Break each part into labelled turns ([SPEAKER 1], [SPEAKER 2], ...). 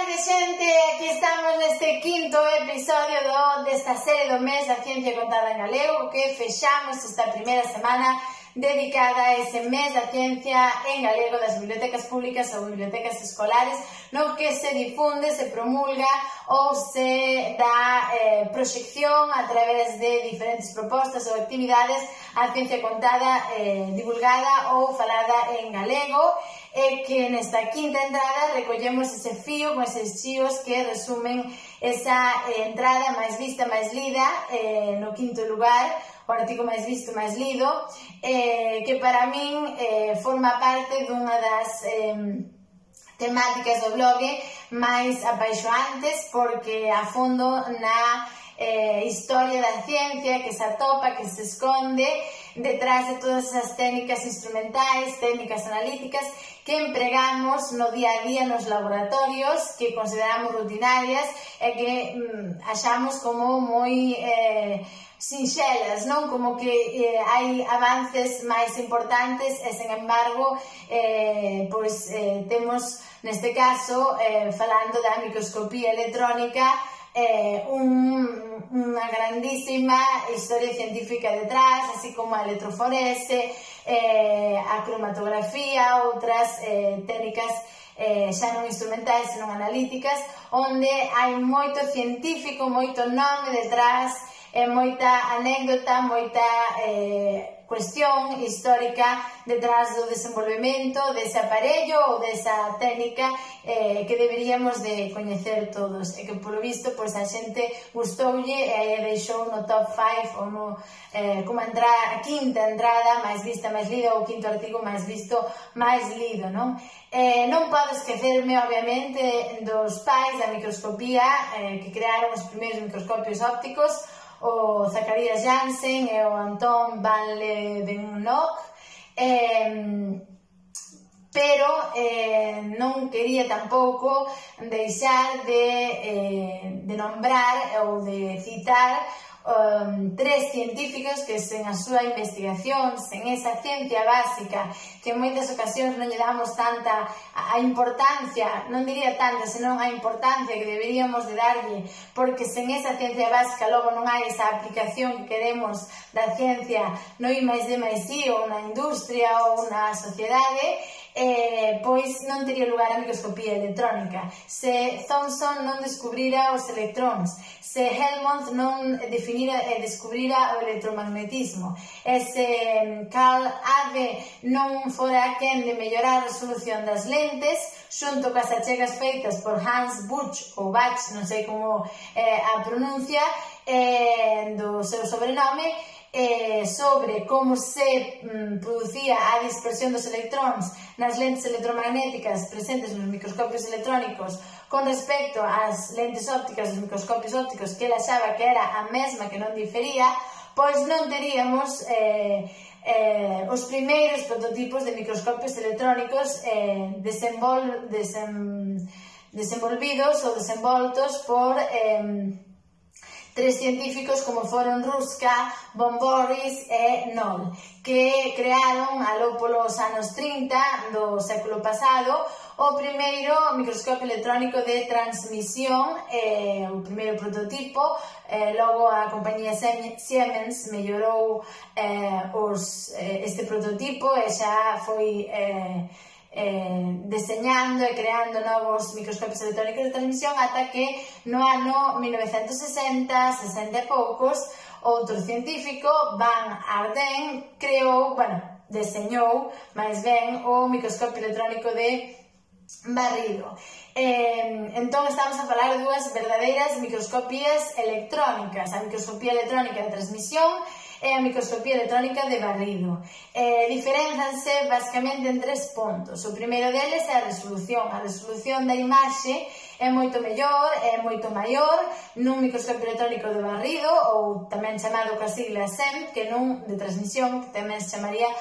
[SPEAKER 1] tarde, xente, aquí estamos neste quinto episodio desta serie do mes da ciencia contada en galego, que fechamos esta primeira semana dedicada a ese mes da ciencia en galego das bibliotecas públicas ou bibliotecas escolares, no que se difunde, se promulga ou se dá proxección a través de diferentes propostas ou actividades a ciencia contada, divulgada ou falada en galego, e que nesta quinta entrada recollemos ese fío con eses chíos que resumen esa entrada máis vista, máis lida, no quinto lugar, o artigo máis visto, máis lido, que para min forma parte dunha das temáticas do blog máis apaixoantes, porque a fondo na historia da ciencia que se atopa, que se esconde detrás de todas esas técnicas instrumentais, técnicas analíticas que empregamos no día a día nos laboratorios, que consideramos rutinarias e que achamos como moi sinxelas, non? Como que hai avances máis importantes e, sen embargo, temos, neste caso, falando da microscopía electrónica, unha grandísima historia científica detrás, así como a electroforese, a cromatografía, outras técnicas xa non instrumentais, senón analíticas, onde hai moito científico, moito nome detrás, moita anécdota, moita cuestión histórica detrás do desenvolvemento dese aparello ou desa técnica que deberíamos de coñecer todos, e que polo visto pois a xente gustoulle e deixou no top 5 ou no como a quinta entrada máis vista, máis lida, ou o quinto artigo máis visto, máis lido, non? Non podo esquecerme, obviamente, dos pais da microscopía que crearon os primeiros microscopios ópticos, o Zacharias Janssen e o Anton van Leeuwenhoek, pero non quería tampouco deixar de nombrar ou de citar tres científicos que sen a súa investigación, sen esa ciencia básica que en moitas ocasións non lle damos tanta a importancia, non diría tanta, senón a importancia que deberíamos de darlle, porque sen esa ciencia básica logo non hai esa aplicación que queremos da ciencia no I+D+I ou na industria ou na sociedade, pois non teria lugar a microscopía electrónica. Se Thomson non descubrira os electróns, se Helmont non definira e descubrira o electromagnetismo, e se Carl Abbe non fora quen de mellorar a resolución das lentes, xunto coas achegas feitas por Hans Buch, ou Bach, non sei como a pronuncia do seu sobrenome, sobre como se producía a dispersión dos electróns nas lentes electromagnéticas presentes nos microscopios electrónicos con respecto ás lentes ópticas dos microscopios ópticos, que ele achaba que era a mesma, que non difería, pois non teríamos os primeiros prototipos de microscopios electrónicos desenvolvidos ou desenvoltos por tres científicos como foron Ruska, von Boris e Noll, que crearon aló polos anos 30 do século pasado o primeiro microscopio electrónico de transmisión, o primeiro prototipo. Logo a compañía Siemens mellorou este prototipo e xa foi deseñando e creando novos microscopios electrónicos de transmisión, ata que no ano 1960, 60 e poucos, outro científico, Van Ardenne, deseñou máis ben o microscopio electrónico de barrido. Entón estamos a falar de dúas verdadeiras microscopías electrónicas, a microscopía electrónica de transmisión e a microscopía electrónica de barrido. Diferenzanse basicamente en tres pontos. O primeiro deles é a resolución. A resolución da imaxe é moito mellor, é moito maior nun microscopio electrónico de barrido, ou tamén chamado coas siglas SEM, que nun de transmisión, que tamén se chamaría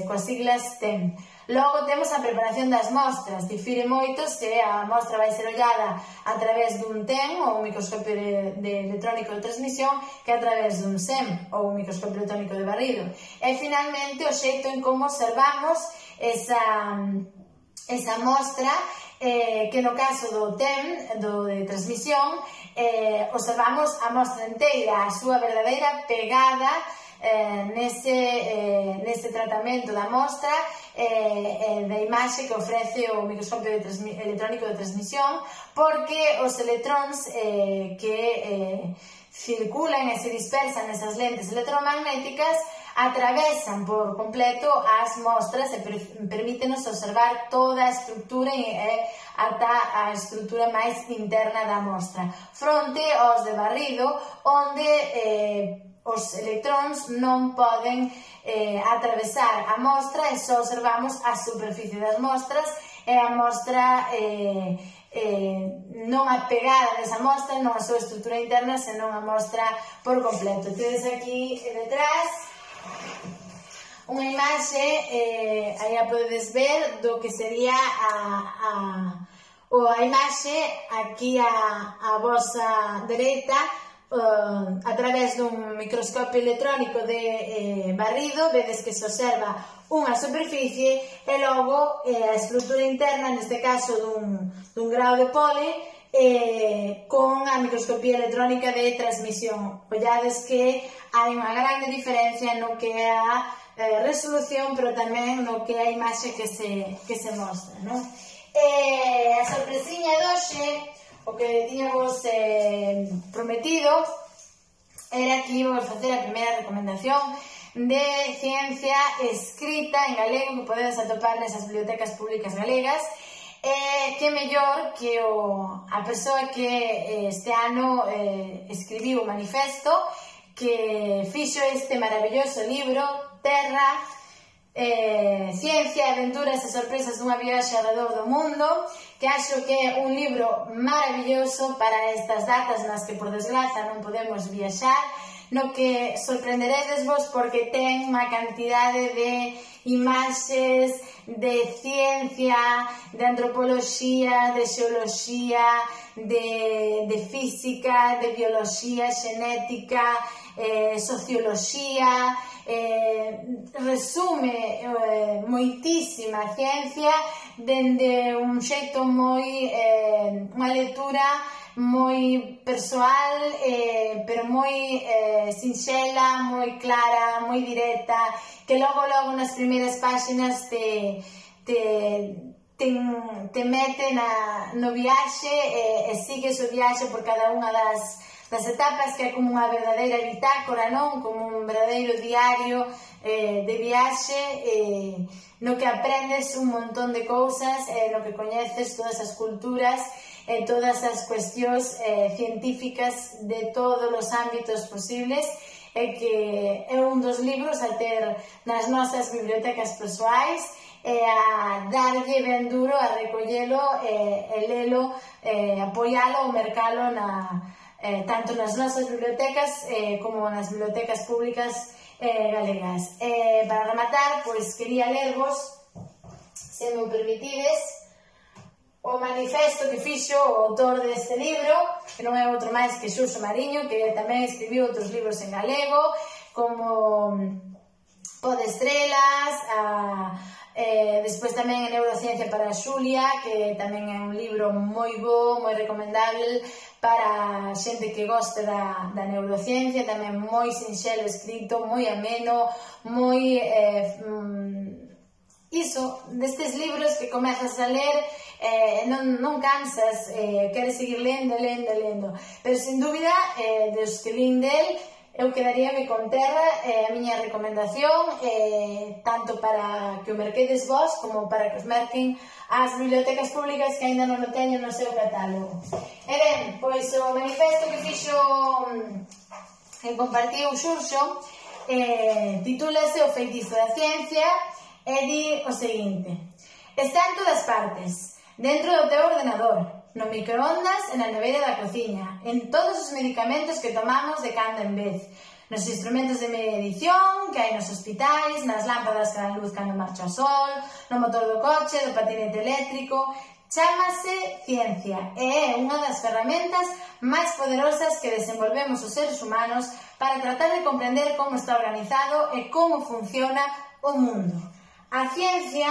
[SPEAKER 1] coas siglas TEM. Logo temos a preparación das mostras. Difire moito se a mostra vai ser ollada a través dun TEM, ou un microscopio electrónico de transmisión, que a través dun SEM, ou un microscopio electrónico de barrido. E finalmente o xeito en como observamos esa mostra que no caso do TEM, do de transmisión, observamos a mostra inteira, a súa verdadeira pegada nese tratamento da mostra, da imaxe que ofrece o microscopio electrónico de transmisión, porque os electróns que circulan e se dispersan nesas lentes electromagnéticas atravesan por completo as mostras e permítenos observar toda a estrutura e ata a estrutura máis interna da mostra, fronte aos de barrido, onde os electróns non poden atravesar a mostra e só observamos a superficie das mostras e a mostra non a pegada desa mostra, non a súa estrutura interna, senón a mostra por completo. Tedes aquí detrás unha imaxe, aí a podedes ver, do que sería a imaxe aquí a vosa dereita, a través dun microscopio electrónico de barrido, vedes que se observa unha superficie e logo a estrutura interna, neste caso dun grao de pole, con a microscopía electrónica de transmisión. Ollades que hai unha grande diferencia no que é a resolución, pero tamén no que é a imaxe que se mostra, non? A sorpresiña de hoxe, o que tiñamos prometido, era que íbamos facer a primeira recomendación de ciencia escrita en galego que podedes atopar nesas bibliotecas públicas galegas. Que mellor que a persoa que este ano escribiu o manifesto, que fixo este maravilloso libro, Terra, Ciencia, Aventuras e Sorpresas dunha viaxe alrededor do mundo, que acho que é un libro maravilloso para estas datas nas que, por desgraza, non podemos viaxar, no que sorprenderedes vos porque ten unha cantidade de imaxes de ciencia, de antropoloxía, de xeoloxía, de física, de bioloxía, xenética, socioloxía, resume moitísima ciencia dende un xeito moi, unha lectura moi persoal, pero moi sinxela, moi clara, moi directa, que logo nas primeiras páxinas te mete no viaxe e sigues o viaxe por cada unha das etapas, que é como unha verdadeira bitácora, non? Como un verdadeiro diario de viaxe, no que aprendes un montón de cousas, no que coñeces todas as culturas e todas as cuestións científicas de todos os ámbitos posibles, e que é un dos libros a ter nas nosas bibliotecas persoais e a darlle ben duro a recollelo e lelo, apoialo ou mercalo tanto nas nosas bibliotecas como nas bibliotecas públicas galegas. Para rematar, pois quería lervos, se me permitides, o manifesto que fixo o autor deste libro, que non é outro máis que Xurxo Mariño, que tamén escribiu outros libros en galego, como Po de Estrelas, despois tamén en Neurociencia para a Xulia, que tamén é un libro moi bo, moi recomendable para xente que goste da neurociencia, tamén moi sinxelo escrito, moi ameno, moi destes libros que comezas a ler, non cansas, queres seguir lendo, pero sin dúbida, dos que lin del, eu quedaríame con Terra, a miña recomendación, tanto para que o merquedes vos, como para que os merquen as bibliotecas públicas que aínda non o teñen no seu catálogo. E ben, pois o manifesto que fixo que compartiu Xurxo titúlase O feitizo da ciencia e di o seguinte: está en todas partes, dentro do teu ordenador, no microondas e na nevera da cociña, en todos os medicamentos que tomamos de cando en vez, nos instrumentos de medición que hai nos hospitais, nas lámpadas que dan luz cando marcha o sol, no motor do coche, do patinete eléctrico. Chámase ciencia e é unha das ferramentas máis poderosas que desenvolvemos os seres humanos para tratar de comprender como está organizado e como funciona o mundo. A ciencia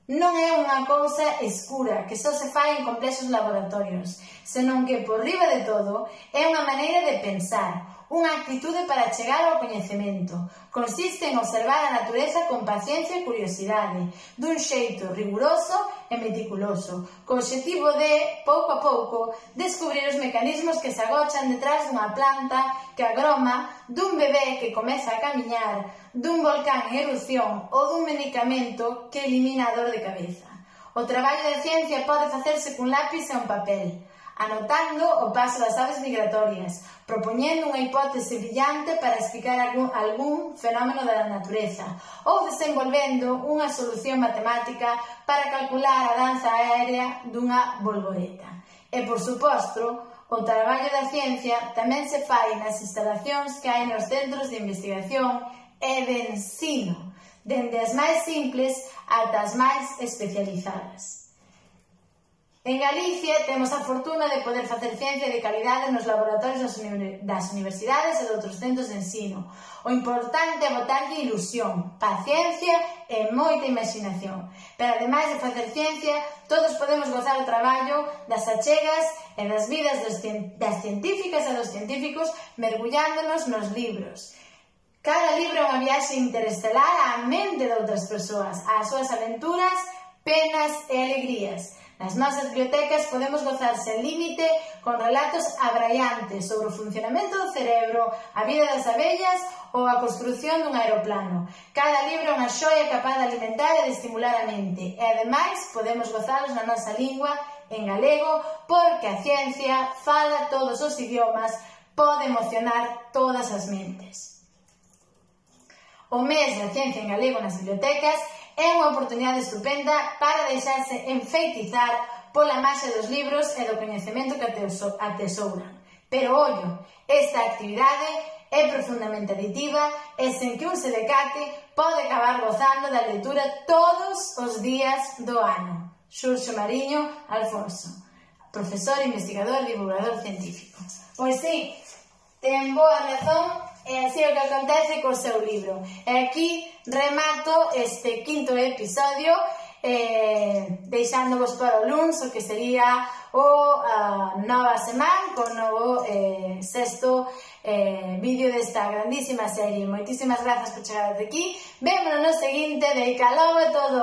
[SPEAKER 1] non é unha cousa escura que só se fai en complexos laboratorios, senón que, por riba de todo, é unha maneira de pensar, unha actitude para chegar ao coñecemento. Consiste en observar a natureza con paciencia e curiosidade, dun xeito riguroso e meticuloso, co obxectivo de, pouco a pouco, descubrir os mecanismos que se agochan detrás dunha planta que agroma, dun bebé que comeza a camiñar, dun volcán en erupción ou dun medicamento que elimina a dor de cabeza. O traballo de ciencia pode facerse cun lápiz e un papel, anotando o paso das aves migratorias, propoñendo unha hipótese brillante para explicar algún fenómeno da natureza, ou desenvolvendo unha solución matemática para calcular a danza aérea dunha bolboreta. E, por suposto, o traballo da ciencia tamén se fai nas instalacións que hai nos centros de investigación e de ensino, dende as máis simples ata as máis especializadas. En Galicia temos a fortuna de poder facer ciencia de calidade nos laboratorios das universidades e de outros centros de ensino. O importante é botarlle ilusión, paciencia e moita imaginación. Pero, ademais de facer ciencia, todos podemos gozar o traballo das achegas e das vidas das científicas e dos científicos mergullándonos nos libros. Cada libro é unha viaxe interestelar á mente de outras persoas, ás súas aventuras, penas e alegrías. Nas nosas bibliotecas podemos gozar sen límite con relatos abraiantes sobre o funcionamento do cerebro, a vida das abellas ou a construción dun aeroplano. Cada libro é unha xoia capaz de alimentar e de estimular a mente, e ademais podemos gozalos na nosa lingua, en galego, porque a ciencia fala todos os idiomas, pode emocionar todas as mentes. O mes da ciencia en galego nas bibliotecas é unha oportunidade estupenda para deixarse enfeitizar pola máxia dos libros e do coñecemento que atesouran. Pero, ollo, esta actividade é profundamente aditiva e sen que un se decate pode acabar gozando da lectura todos os días do ano. Xurxo Mariño Alfonso, profesor, investigador, divulgador científico. Pois sí, ten boa razón. E así é o que acontece co seu libro. E aquí remato este quinto episodio deixándovos para o luns o que sería o nova semana con novo sexto vídeo desta grandísima serie. Moitísimas grazas por chegar até aquí. Vémonos no seguinte. Deica logo e todo.